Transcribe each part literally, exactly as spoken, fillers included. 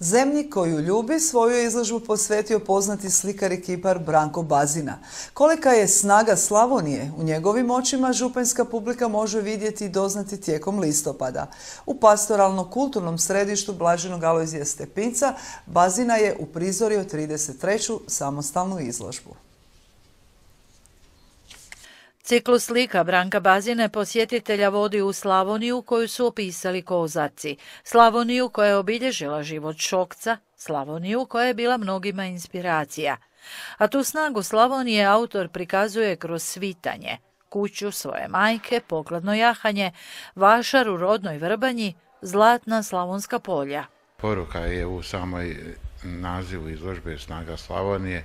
Zemlji koju ljubi svoju je izložbu posvetio poznati slikar i kipar Branko Bazina. Kolika je snaga Slavonije u njegovim očima županjska publika može vidjeti i doznati tijekom listopada. U pastoralno-kulturnom središtu Blaženog Alojzija Stepinca Bazina je uprizorio trideset treću samostalnu izložbu. Ciklus slika Branka Bazine posjetitelja vodi u Slavoniju koju su opisali Kozarci, Slavoniju koja je obilježila život Šokca, Slavoniju koja je bila mnogima inspiracija. A tu snagu Slavonije autor prikazuje kroz svitanje, kuću svoje majke, pokladno jahanje, vašar u rodnoj Vrbanji, zlatna slavonska polja. Poruka je u samoj nazivu izložbe Snaga Slavonije.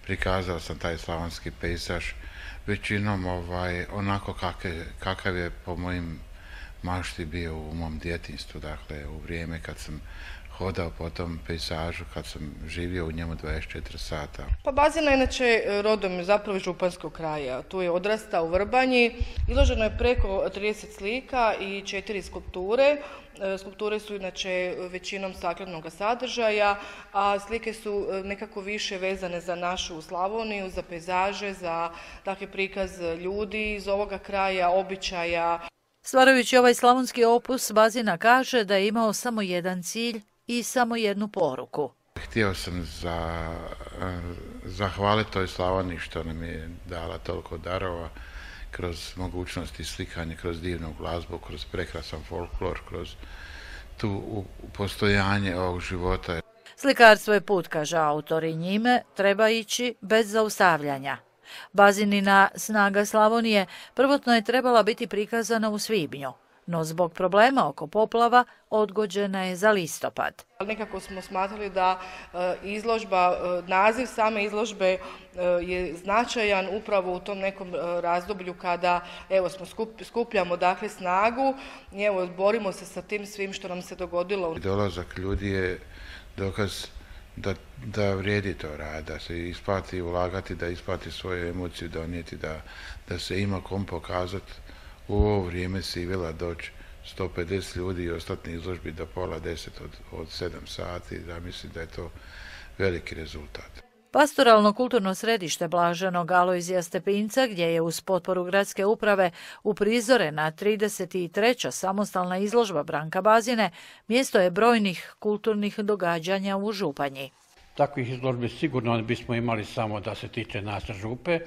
Prikazao sam taj slavonski pejzaž većinom ovaj, onako kakav, kakav je po mojim mašti bio u mom djetinjstvu, dakle u vrijeme kad sam hodao po tom pejzažu, kad sam živio u njemu dvadeset četiri sata. Pa Bazina inače rodom zapravo iz županjskog kraja. Tu je odrastao u Vrbanji. Izloženo je preko trideset slika i četiri skulpture. Skulpture su inače većinom staklenog sadržaja, a slike su nekako više vezane za našu Slavoniju, za pejzaže, za dakle, prikaz ljudi iz ovoga kraja, običaja. Stvarajući ovaj slavonski opus, Bazina kaže da je imao samo jedan cilj i samo jednu poruku. Htio sam za, zahvaliti toj Slavoniji što nam je dala toliko darova kroz mogućnosti slikanja, kroz divnu glazbu, kroz prekrasan folklor, kroz tu postojanje ovog života. Slikarstvo je put, kaže autor, i njime treba ići bez zaustavljanja. Bazinina Snaga Slavonije prvotno je trebala biti prikazana u svibnju, no zbog problema oko poplava odgođena je za listopad. Nekako smo smatrali da izložba, naziv same izložbe je značajan upravo u tom nekom razdoblju kada evo smo skup, skupljamo dakle snagu i evo borimo se sa tim svim što nam se dogodilo. Dolazak ljudi je dokaz Da, da vrijedi to rad, da se isplati ulagati, da isplati svoju emociju donijeti, da, da se ima kom pokazati u ovo vrijeme sivila doći sto pedeset ljudi i ostati na izložbi do pola deset od, od sedam sati, da mislim da je to veliki rezultat. Pastoralno-kulturno središte Blaženog Alojzija Stepinca, gdje je uz potporu gradske uprave uprizorena trideset treća samostalna izložba Branka Bazine, mjesto je brojnih kulturnih događanja u Županji. Takvih izložbi sigurno ne bismo imali samo da se tiče naše župe,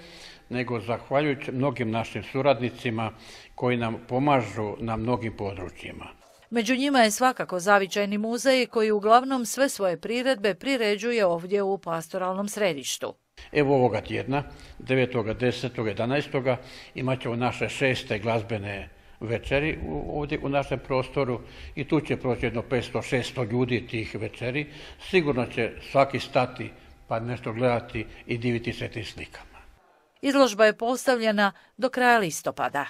nego zahvaljujući mnogim našim suradnicima koji nam pomažu na mnogim područjima. Među njima je svakako Zavičajni muzej koji uglavnom sve svoje priredbe priređuje ovdje u pastoralnom središtu. Evo ovoga tjedna, devetog, desetog, jedanaestog imat ćemo naše šeste glazbene večeri ovdje u našem prostoru i tu će proći jedno petsto šesto ljudi tih večeri. Sigurno će svaki stati pa nešto gledati i diviti se tim slikama. Izložba je postavljena do kraja listopada.